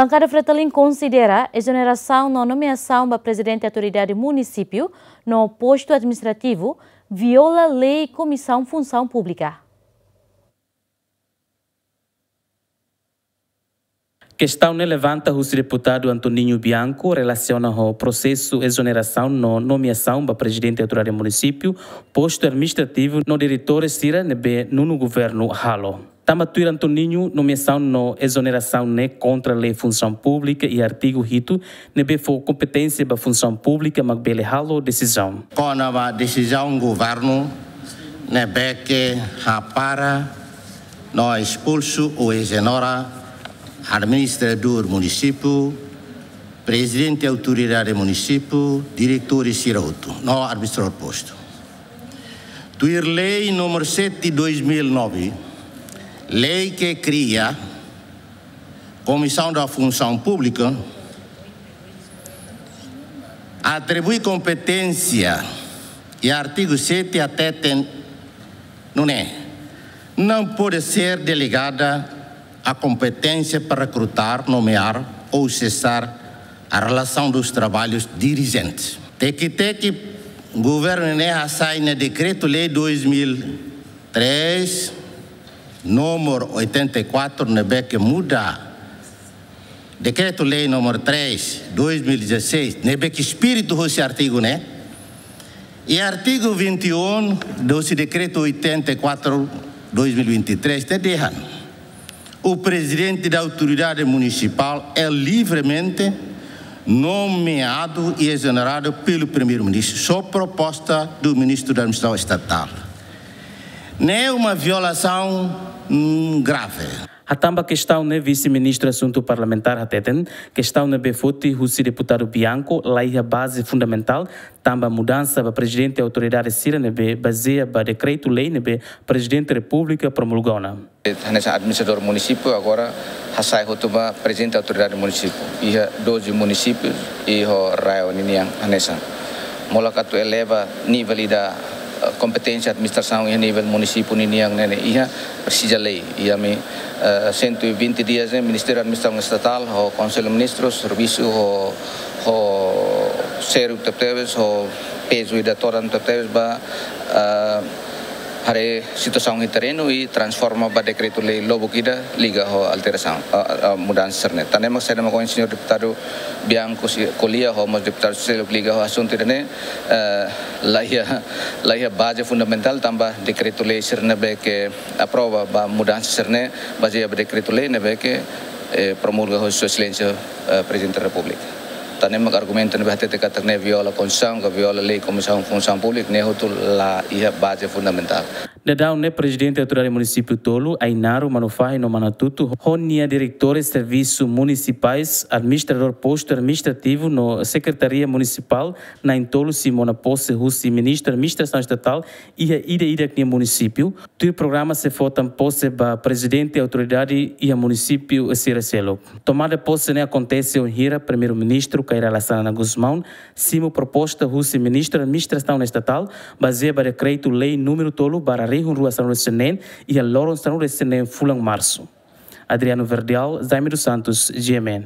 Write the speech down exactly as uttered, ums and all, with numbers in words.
Bankada Fretilin konsidera ezonerasaun no nomeasaun ba Prezidente Autoridade Munisípiu no Postu Administrativu viola lei Komisaun Funsaun Públika. Kestaun ne'e levanta husi deputadu Antoninho Bianco relasiona ho prosesu ezonerasaun no nomeasaun ba Prezidente Autoridade Munisípiu, Postu Administrativu no diretór sira ne'ebé nonu governu halo. Tanba tuir Antoninho, nomeasaun no ezonerasaun ne'e kontra lei Funsaun Públika iha artigu hitu, ne'ebé fó kompeténsia ba Funsaun Públika mak bele halo desizaun. Kona-ba desizaun governu ne'ebé ke hapara no espulsu ou ezonera administradór munisípiu, prezidente autoridade munisípiu, diretór sira hotu, no administradór postu. Tuir lei número sete dois mil e nove, lei ke kria Komisaun da Funsaun Públika, atribui kompeténsia iha artigu sete hateten nune'e: não pode ser delegada a competência para recrutar, nomear ou cessar a relação dos trabalhos dirigentes. Teki-teki, governu ne'e hasai nia dekretu-lei dois mil e três, número oitenta e quatro, ne'ebé ke muda dekretu-lei número três, dois mil e dezasseis, ne'ebé ke espíritu hosi artigu ne'e. E artigu vinte e um do dekretu oitenta e quatro, dois mil e vinte e três, te dehan: o presidente da autoridade municipal é livremente nomeado e exonerado pelo primeiro-ministro, sob proposta do ministro da Administração Estatal. Ne'e uma violação, hum, grave. Hatán ba kestaun ne'e, Vise-Ministru Asuntu Parlamentár hateten, kestaun ne'ebé foti husi deputadu Bianco laiha baze fundamentál, tanba mudansa ba prezidente autoridade sira ne'ebé bazeia ba dekretu-lei ne'ebé Prezidente Repúblika promulga ona. Hanesan administradór munisípiu agora hasai hotu ba prezidente autoridade munisípiu. Iha doze munisípiu iha RAEOA ninian hanesan. Molok atu eleva nivel ida, eh, kompeténsia administrasaun iha nivel munisípiu ninian ne'e iha presiza lei. Iha ami, eh, cento e vinte dias ne'e Ministériu Administrasaun Estatál ho Konsellu Ministru servisu ho, ho sériu tebetebes, ho pezu ida todan tebetebes ba, eh, haree situasaun iha terrenu i transforma ba dekretu-lei lubuk ida liga ho alterasaun, eh, eh, mudansa sira-ne'e. Tan ne'e mak saida mak ohin señór deputadu Bianco sei ko'alia ho mós deputadu seluk liga ho asuntu ida-ne'e, eh, laiha, laiha baze fundamentál tanba dekretu-lei sira ne'ebé ke aprova ba mudansa sira-ne'e bazeia ba dekretu-lei ne'ebé ke, eh, promulga ho Sua Exelénsia, eh, Prezidente Repúblika. Tan ne'e mak argumentu ne'ebé hatete katak ne'e viola Konstituisaun, ka viola lei Komisaun Funsaun Públika, ne'e hotu laiha baze fundamentál. Daudaun ne'e Prezidente Autoridade Munisípiu tolu, Ainaro, Manufahi no Manatuto, ho nia diretores servisu munisipais, administradór postu administrativu no sekretaria munisipál, na'in-tolu sei mona pose husi Ministru Administrasaun Estatál iha ida-idak nia munisípiu, tuir programa sei fó tan pose ba prezidente autoridade iha munisípiu sira seluk. Tomada pose ne'e akontese wainhira Primeiru-Ministru Kay Rala Xanana Gusmão simu proposta husi Ministru Administrasaun Estatál, bazeia ba dekretu-lei númeru tolu barra rihun rua sanulu-resin-neen, iha loron sanulu-resin-neen fulan Marsu. Adriano Verdial, Jaime dos Santos, G M N.